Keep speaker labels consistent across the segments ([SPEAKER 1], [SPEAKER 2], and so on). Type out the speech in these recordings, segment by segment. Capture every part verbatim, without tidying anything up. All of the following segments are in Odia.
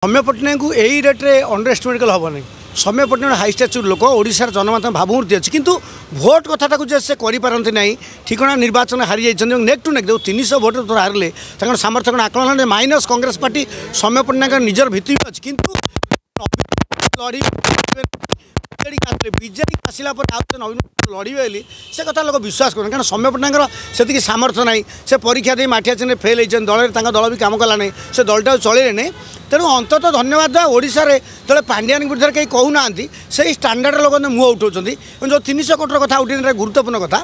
[SPEAKER 1] ସୌମ୍ୟ ପଟ୍ଟନାୟକଙ୍କୁ ଏଇ ରେଟ୍ରେ ଅଣ୍ଡର ଏଷ୍ଟିମେଟ୍ କଲେ ହେବନି। ସୌମ୍ୟ ପଟ୍ଟନାୟକ ହାଇ ଷ୍ଟାଚୁର ଲୋକ, ଓଡ଼ିଶାର ଜନମାଧ୍ୟମ ଭାବମୂର୍ତ୍ତି ଅଛି, କିନ୍ତୁ ଭୋଟ କଥାଟାକୁ ଯେ ସେ କରିପାରନ୍ତି ନାହିଁ। ଠିକଣା ନିର୍ବାଚନ ହାରିଯାଇଛନ୍ତି ଏବଂ ନେକ୍ ଟୁ ନେକ୍ ଯେଉଁ ତିନିଶହ ଭୋଟ ଥର ହାରିଲେ, ତାଙ୍କର ସାମର୍ଥ୍ୟ କ'ଣ ଆକଳନ ମାଇନସ୍ କଂଗ୍ରେସ ପାର୍ଟି। ସୌମ୍ୟ ପଟ୍ଟନାୟକଙ୍କର ନିଜର ଭିତ୍ତି ବି ଅଛି, କିନ୍ତୁ ଲଢ଼ି ବିଜେଡ଼ି ଆସିଲେ, ବିଜେଡ଼ି ଆସିଲା ପରେ ଆଉ ନବୀନ ଲଢ଼ିବେ ବୋଲି ସେ କଥା ଲୋକ ବିଶ୍ୱାସ କରୁନାହାନ୍ତି, କାରଣ ସୌମ୍ୟ ପଟ୍ଟନାୟକଙ୍କର ସେତିକି ସାମର୍ଥ୍ୟ ନାହିଁ। ସେ ପରୀକ୍ଷା ଦେଇ ମାଠିଆ ଚିହ୍ନରେ ଫେଲ୍ ହେଇଛନ୍ତି ଦଳରେ, ତାଙ୍କ ଦଳ ବି କାମ କଲା ନାହିଁ, ସେ ଦଳଟାକୁ ଚଳେଇଲେ ନାହିଁ। ତେଣୁ ଅନ୍ତତଃ ଧନ୍ୟବାଦ ଦେବା, ଓଡ଼ିଶାରେ ଯେତେବେଳେ ପାଣ୍ଡିଆନ ବିରୁଦ୍ଧରେ କେହି କହୁନାହାନ୍ତି, ସେଇ ଷ୍ଟାଣ୍ଡାର୍ଡ଼ ଲୋକ ମୁହଁ ଉଠାଉଛନ୍ତି। ଏବଂ ଯେଉଁ ତିନିଶହ କୋଟିର କଥା ଉଠେଇ, ଗୁରୁତ୍ୱପୂର୍ଣ୍ଣ କଥା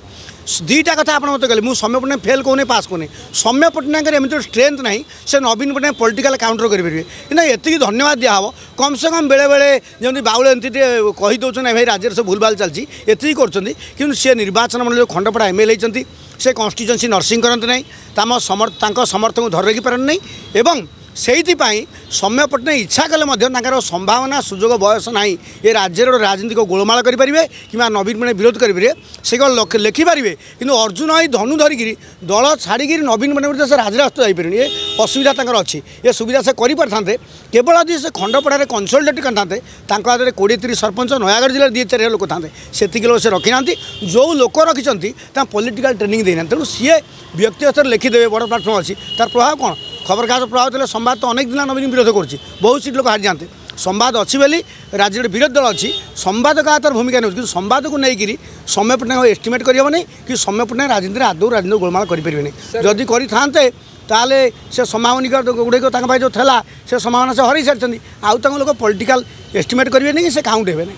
[SPEAKER 1] ଦୁଇଟା କଥା ଆପଣ ମୋତେ କହିଲେ। ମୁଁ ସୌମ୍ୟ ପଟ୍ଟନାୟକ ଫେଲ୍ କହୁନି, ପାସ୍ କହୁନି। ସୌମ୍ୟ ପଟ୍ଟନାୟକଙ୍କର ଏମିତି ଗୋଟେ ଷ୍ଟ୍ରେନ୍ଥ ନାହିଁ ସେ ନବୀନ ପଟ୍ଟନାୟକ ପଲିଟିକାଲ କାଉଣ୍ଟର କରିପାରିବେ। କିନ୍ତୁ ଏତିକି ଧନ୍ୟବାଦ ଦିଆହେବ, କମ୍ ସେ କମ୍ ବେଳେବେଳେ ଯେମିତି ବାଉଳ ଏମିତି ଟିକେ କହିଦେଉଛନ୍ତି, ଭାଇ ରାଜ୍ୟରେ ସବୁ ଭୁଲଭାଲ ଚାଲିଛି, ଏତିକି କରୁଛନ୍ତି। କିନ୍ତୁ ସେ ନିର୍ବାଚନ ମଣ୍ଡଳୀ ଯେଉଁ ଖଣ୍ଡପଡ଼ା ଏମ୍ ଏଲ୍ ହେଇଛନ୍ତି, ସେ କନଷ୍ଟିଚୁଏନ୍ସି ନର୍ସିଂ କରନ୍ତି ନାହିଁ, ତାମ ତାଙ୍କ ସମର୍ଥକଙ୍କୁ ଧରି ରଖିପାରନ୍ତି ନାହିଁ। ଏବଂ ସେଇଥିପାଇଁ ସୌମ୍ୟ ପଟ୍ଟନାୟକ ଇଚ୍ଛା କଲେ ମଧ୍ୟ ତାଙ୍କର ସମ୍ଭାବନା, ସୁଯୋଗ, ବୟସ ନାହିଁ ଏ ରାଜ୍ୟରେ ଗୋଟେ ରାଜନୀତିକ ଗୋଳମାଳ କରିପାରିବେ କିମ୍ବା ନବୀନ ପଟ୍ଟନାୟକ ବିରୋଧ କରିପାରିବେ। ସେ କ'ଣ ଲେଖିପାରିବେ, କିନ୍ତୁ ଅର୍ଜୁନ ଏଇ ଧନୁ ଧରିକିରି ଦଳ ଛାଡ଼ିକିରି ନବୀନ ପଟ୍ଟନାୟକ ବିରୁଦ୍ଧରେ ସେ ରାଜରାସ୍ତା ଯାଇପାରିବେନି। ଏ ଅସୁବିଧା ତାଙ୍କର ଅଛି। ଏ ସୁବିଧା ସେ କରିପାରିଥାନ୍ତେ କେବଳ ଯଦି ସେ ଖଣ୍ଡପଡ଼ାରେ କନସଲଡେଟ୍ କରିଥାନ୍ତେ, ତାଙ୍କ ହାତରେ କୋଡ଼ିଏ ତିରିଶ ସରପଞ୍ଚ, ନୟାଗଡ଼ ଜିଲ୍ଲାରେ ଦୁଇ ଚାରି ଲୋକ ଥାନ୍ତେ। ସେତିକି ଲୋକ ସେ ରଖିନାହାନ୍ତି। ଯେଉଁ ଲୋକ ରଖିଛନ୍ତି ତାଙ୍କ ପଲିଟିକାଲ ଟ୍ରେନିଂ ଦେଇନାହାନ୍ତି। ତେଣୁ ସିଏ ବ୍ୟକ୍ତିଗତ ଲେଖିଦେବେ, ବଡ଼ ପ୍ଲାଟଫର୍ମ ଅଛି, ତାର ପ୍ରଭାବ କ'ଣ? ଖବରକାଗଜ ପ୍ରଭାବ ଥିଲେ ସମ୍ବାଦ ତ ଅନେକ ଦିନ ନବୀନ ବିରୋଧ କରୁଛି, ବହୁତ ସିଟ୍ ଲୋକ ହାରିଯାଆନ୍ତେ। ସମ୍ବାଦ ଅଛି ବୋଲି ରାଜ୍ୟରେ ବିରୋଧୀ ଦଳ ଅଛି। ସମ୍ବାଦ କାହା ତାର ଭୂମିକା ନେଉଛି, କିନ୍ତୁ ସମ୍ବାଦକୁ ନେଇକରି ସୌମ୍ୟ ପଟ୍ଟନାୟକ ଏଷ୍ଟିମେଟ୍ କରିହେବନି କି ସୌମ୍ୟ ପଟ୍ଟନାୟକ ରାଜନୀତିରେ ଆଦୌ ରାଜନୀତି ଗୋଳମାଳ କରିପାରିବେନି। ଯଦି କରିଥାନ୍ତେ ତାହେଲେ ସେ ସମ୍ଭାବନିକ ଗୁଡ଼ିକ ତାଙ୍କ ପାଇଁ ଯେଉଁ ଥିଲା, ସେ ସମ୍ଭାବନା ସେ ହରାଇ ସାରିଛନ୍ତି। ଆଉ ତାଙ୍କ ଲୋକ ପଲିଟିକାଲ ଏଷ୍ଟିମେଟ୍ କରିବେନି କି ସେ କାଉଣ୍ଟ ହେବେନି।